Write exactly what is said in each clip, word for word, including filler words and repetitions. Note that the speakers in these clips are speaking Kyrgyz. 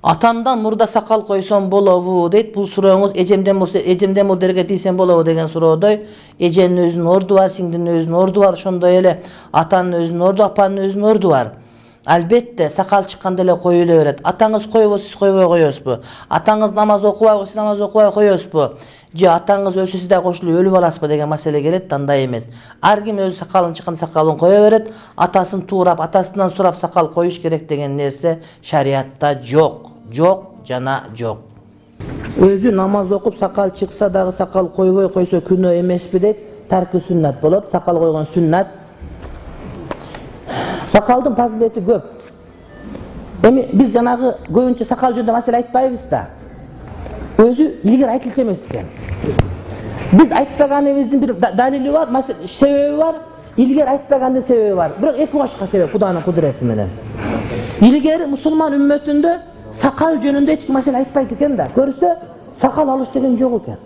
Атамдан мурда сакал койсом болобу дейт. Бул сурооңуз эжемден мурда эжемден мурдерге тийсем болобу деген суроодой. Эженин өзүнүн орду бар, сиңдинин өзүнүн орду бар, ошондой эле атанын өзүнүн орду, апанын өзүнүн орду бар. Албетте сакал чыкканда эле коюла берет. Атаңыз койбосо сиз койбой коесузбу? Атаңыз намаз окубайбы, сиз намаз окубай коесузбу? Же атаңыз өлсө сиз да кошулуп өлүп аласызбы деген маселе келет, андай эмес. Ар ким өзү сакалын чыкканда сакалын кое берет. Атасын туурап, атасынан сурап сакал коюш керек деген нерсе шариатта жок. Жок жана жок. Өзү намаз окуп сакал чыкса дагы сакал койбой койсо күнөө эмеспи дейт. Тарки сүннат болот. Сакал койгон сүннат. Сакалдын фазилети көп. Эми биз жанагы көбүнчө сакал жөнүндө маселе айтпайбыз да. Өзү илгери айтылчу эмес экен. Биз айтпаганыбыздын бир далили бар, себеби бар. Илгери айтпагандын себеби бар. Бирок эки башка себеп Куданын кудурети менен. Илгери мусулман үммөтүндө сакал жөнүндө эч ким маселе айтпайт экен да. Көрсө сакал алыш деген жок экен.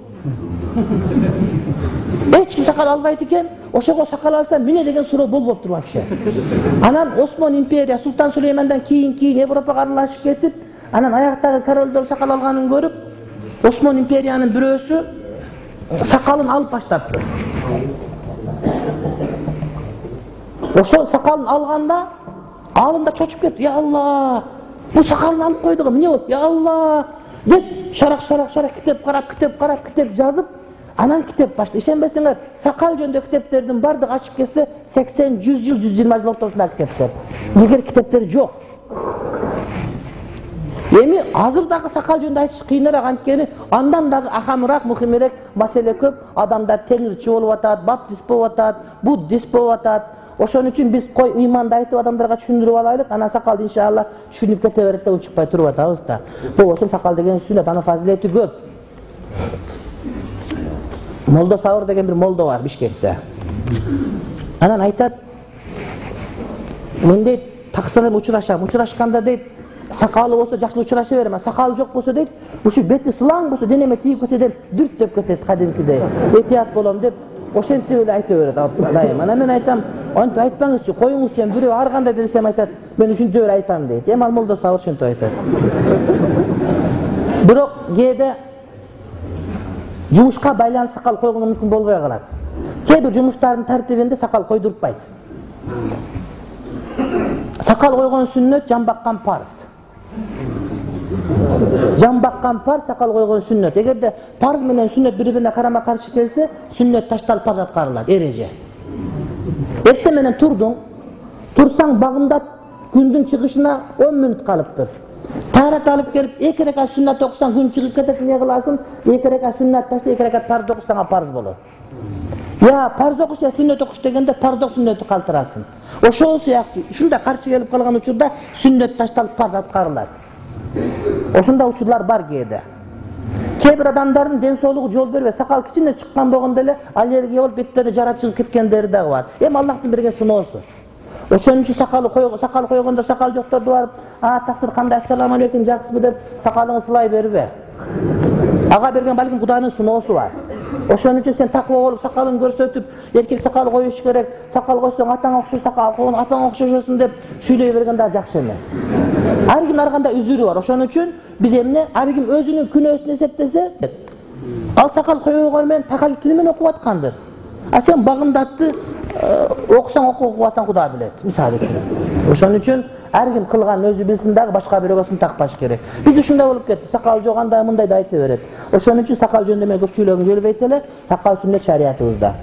Эч ким сакал албайт экен. Ошого сакал алса эмне деген суроо болбоптур вообще. Анан Осман империя Султан Сулеймандан кийин кийин Европага аралашып кетип, анан аяктагы королдор сакал алганын көрүп, Осман империянын бирөөсү сакалын алып баштапты. Ошол сакалын алганда алымдар чочуп кетти. Я Алла, бу сакалын алып койдук, эмне болуп? Я Алла деп шарак шарак шарак китеп карап, китеп карап, китеп жазып, анан китеп баштады. Ишенбесеңер, сакал жөнүндө китептердин бардыгы ачып кетсе сексен жүз жыл, жүз жыйырма жыл ортосунда китептер. Илгери китептер жок. Эми азыр дагы сакал жөнүндө айтыш кыйыныраак, анткени андан дагы ахамыраак, мухимирээк маселе көп. Адамдар теңирчи болуп атат, баптист болуп атат, буддист болуп атат. Ошон үчүн биз кой ыйманды айтып адамдарга түшүндүрүп алайлык. Анан сакал иншалла түшүнүп кете берет деп учукпай туруп атабыз да. Болбосо сакал деген сүннөт, анын фазилети көп. Молдо Сабыр деген бир молдо бар Бишкекте. Анан айтат, мен дейт таксырым учурашам, учурашканда дейт сакалы болсо жакшы учураша берем, сакалы жок болсо дейт, ушу бети сылаң болсо денеме тийип кетсе деп дүрттөп кетет кадимкидей. Этият болом деп ошентип эле айта берет дайым. Анан мен айтам, антип айтпаңызчы, коюңузчу, бирөө ар кандай десем айтат, мен ушинтип эле айтам дейт. Эми ал молдо Сабыр ошентип айтат. Бирок кээде жумушка байланып сакал койгону мүмкүн болбой калат. Кээ бир жумуштардын тартибинде сакал койдуртпайт. Сакал койгон сүннөт, жан баккан парз. Жан баккан парз, сакал койгон сүннөт. Эгерде парз менен сүннөт бири-бирине карама-каршы келсе, сүннөт ташталып парз аткарылат, эреже. Эртең менен турдуң, турсаң багымда күндүн чыгышына он мүнөт калыптыр. Тарат алып келип, эки рекат сүннат окусаң күн чыгып кетет, эмне кыласың? эки рекат сүннат ташта, эки рекат парз окусаң парз болот. Я парз окуш, я сүннөт окуш дегенде парздык сүннөттү калтырасың. Ошол сыяктуу ушундай каршы келип калган учурда сүннөт ташталып парз аткарылат. Ошондой учурлар бар кээде. Кээ бир адамдардын ден соолугу жол бербейт. Сакал кичине чыккан болгондо эле аллергия болуп беттерде жара чыгып кеткендери дагы бар. Эми Аллахтын берген сыноосу. Ошон үчүн сакалы койгон, сакал койгондо сакал жокторду барып, "А, таксир кандай, ассаламу алейкум, жакшысызбы?" деп сакалыңды сылай бербе. Ага берген балким Кудайдын сыноосу бар. Ошон үчүн сен таква болуп сакалын көрсөтүп, эркек сакал коюш керек, сакал койсоң атаң окшош сакал койгон, апаң окшошосун деп сүйлөй берген да жакшы эмес. Ар кимдин ар кандай үзүрү бар. Ошон үчүн биз эмне, ар ким өзүнүн күнөөсүн эсептесе, ал сакал койгон менен такалит тили менен окуп аткандыр. А сен багымдатты окусаң окуп, окубасаң Кудай билет, мисалы үчүн. Ошон үчүн ар ким кылган өзү билсин дагы башка бирөөгө сын такпаш керек. Биз ушундай болуп кетти. Сакал жок, андай мындай да айта берет. Ошон үчүн сакал жөнүндө мен көп сүйлөгүм келбейт эле. Сакал сүннөт шариятыбызда.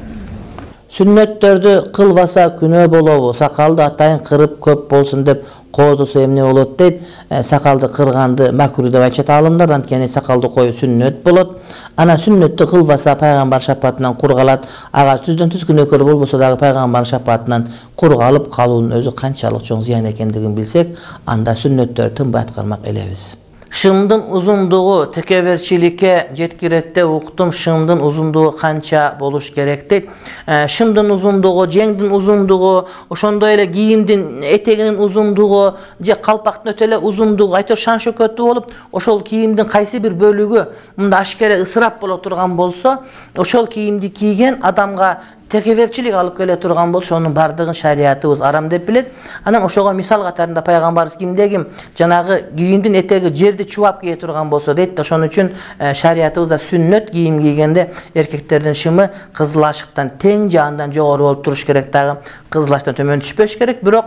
Сүннөттөрдү кылбаса күнөө болобу? Сакалды атайын кырып көп болсун деп коодусу эмне болот дейт. Сакалды кырганды макруh деп айтышат аалымдар, анткени сакалды коюу сүннөт болот. Анан сүннөттү кылбаса пайгамбар шапаатынан кур калат. Ага түздөн түз күнөөкөр болбосо дагы пайгамбар шапаатынан кур калып калуунун өзү канчалык чоң зыян экендигин билсек, анда сүннөттөрдү тынбай аткармак элебиз. Шымдын узундугу текеберчиликке жеткирет деп уктум. Шымдын узундугу канча болуш керек дейт. Шымдын узундугу, жеңдин узундугу, ошондой эле кийимдин этегинин узундугу же калпактын өтө эле узундугу айтор шан шөкөтү болуп, ошол кийимдин кайсы бир бөлүгү мында ашкере ысырап боло турган болсо, ошол кийимди кийген адамга текеберчилик алып келе турган болсо, ошонун бардыгын шариятыбыз арам деп билет. Анан ошого мисал катарында пайгамбарыбыз кимде ким жанагы кийимдин этеги жерди чубап кие турган болсо дейт. Ошон үчүн шариятыбызда сүннөт кийим кийгенде эркектердин шымы кызыл ашыктан тең же андан жогору болуп туруш керек, дагы кызыл ашыктан төмөн түшпөш керек. Бирок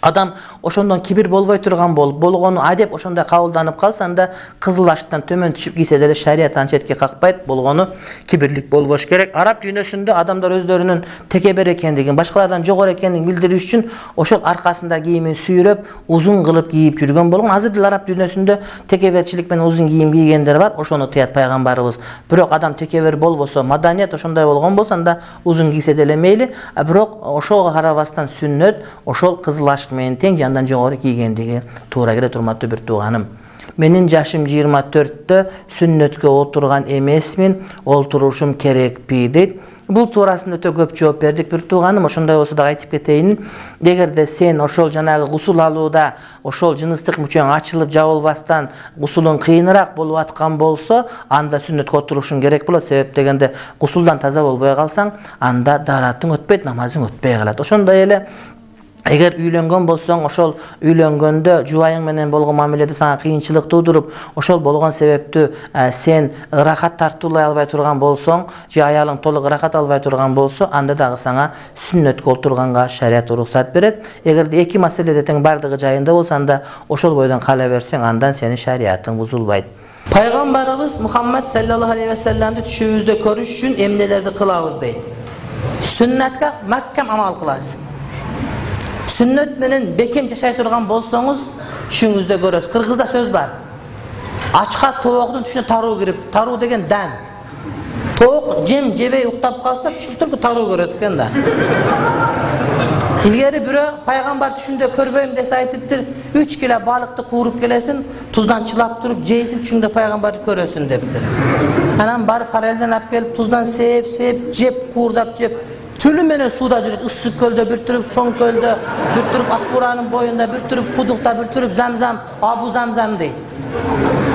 адам ошондон кибир болбой турган болуп, болгону адеп ошондой кабылданып калса, анда кызыл ашыктан төмөн түшүп кийсе деле шарият аны четке какпайт, болгону кибирлик болбош керек. Араб дүйнөсүндө адамдар өздөрүнүн текебер экендигин, башкалардан жогору экендигин билдирүү үчүн ошол аркасында кийимин сүйрөп, узун кылып кийип жүргөн болгон. Азыр деле араб дүйнөсүндө текеберчилик менен узун кийим кийгендер бар, ошону тыят пайгамбарыбыз. Бирок адам текебер болбосо, маданият ошондой болгон болсо, анда узун кийсе деле мейли. Бирок ошого карабастан сүннөт ошол кызыл ашык менен тең же андан жогору кийгендиги туура келет. Урматтуу бир тууганым, менин жашым жыйырма төрттө, сүннөткө отурган эмесмин, олтурушум керекпи дейт. Бул туурасында өтө көп жооп бердик. Бир тууганым, ошондой болсо да айтып кетейин. Эгерде сен ошол жанагы гусул алууда ошол жыныстык мүчөң ачылып жабылбастан гусулуң кыйыныраак болуп аткан болсо, анда сүннөткө отурушуң керек болот. Себеп дегенде гусулдан таза болбой калсаң, анда дааратың өтпөйт, намазың өтпөй калат. Ошондой эле эгер үйлөнгөн болсоң, ошол үйлөнгөндө жубайың менен болгон мамиледе сага кыйынчылык туудуруп, ошол болгон себептүү сен ырахат тартуулай албай турган болсоң, же аялың толук ырахат албай турган болсо, анда дагы сага сүннөткө отурганга шарият уруксат берет. Эгерде эки маселеде тең бардыгы жайында болсо, анда ошол бойдон кала берсең, андан сенин шариятың бузулбайт. Пайгамбарыбыз Мухаммад саллаллаху алейхи ва салламды түшүбүздө көрүш үчүн эмнелерди кылабыз дейт. Сүннөткө маккам амал кыласыз. Сүннөт менен бекем жашай турган болсоңуз, түшүңүздө көрөсүз. Кыргызда сөз бар. Ачка тооктун түшүнө таруу кирип, таруу деген дан. Тоок жем жебей уктап калса, түшүктөргө таруу көрөт экен да. Илгери бирөө пайгамбар түшүндө көрбөйм десе айтыптыр, үч кило балыкты кууруп келесин, туздан чылап туруп жейсин, түшүңдө пайгамбарды көрөсүн дептир. Анан барып форелден алып келип, туздан сеп, сеп, жеп, куурдап жеп, түлү менен сууда жүрөт. Ысык көлдө бир туруп, соң көлдө бир туруп, Акбуранын боюнда бир туруп, Кудукта бир туруп, Замзам, Абу Замзам дейт.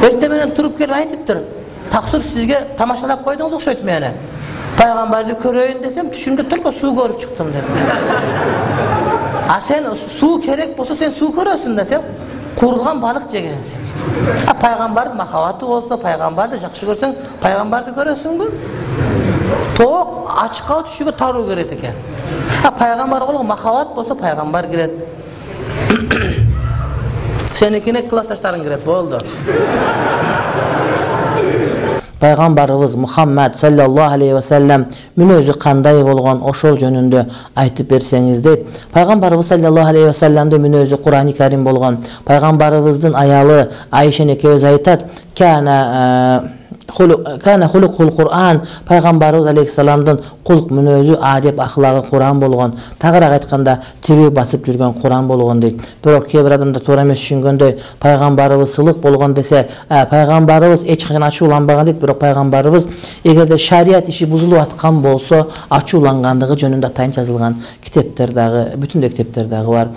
Эртең менен туруп келип айтыптыр, таксыр сизге тамашалап койдуңуз окшойт менен. Пайгамбарды көрөйүн десем, түшүмдө только суу көрүп чыктым деп. А сен суу керек болсо, сен суу көрөсүң да, сен куурулган балык жегенсиң. А пайгамбардын махабаты болсо, пайгамбарды жакшы көрсөң, пайгамбарды көрөсүңбү? Тоок ачка түшүгө таруу керет экен. А пайгамбарга болгон махабат болсо, пайгамбар кирет. Сеникине классташтарың кирет, болду. Пайгамбарыбыз Мухаммад саллаллаху алейхи ва саллам мүнөзү кандай болгон, ошол жөнүндө айтып берсеңиз дейт. Пайгамбарыбыз саллаллаху алейхи ва салламдын мүнөзү Кур'ани Карим болгон. Пайгамбарыбыздын аялы Айша экөөбүз айтат: "Кана Кана хулукул Кур'ан", пайгамбарыбыз алейхиссаламдын кулк мүнөзү, адеп, ахлагы Кур'ан болгон. Тагыраак айтканда, тирүү басып жүргөн Кур'ан болгон дейт. Бирок кээ бир адамдар туура эмес түшүнгөндөй, пайгамбарыбыз сылык болгон десе, пайгамбарыбыз эч качан ачууланбаган дейт. Бирок пайгамбарыбыз эгерде шарият иши бузулуп аткан болсо, ачуулангандыгы жөнүндө атайын жазылган китептер дагы, бүтүндөй китептер дагы бар.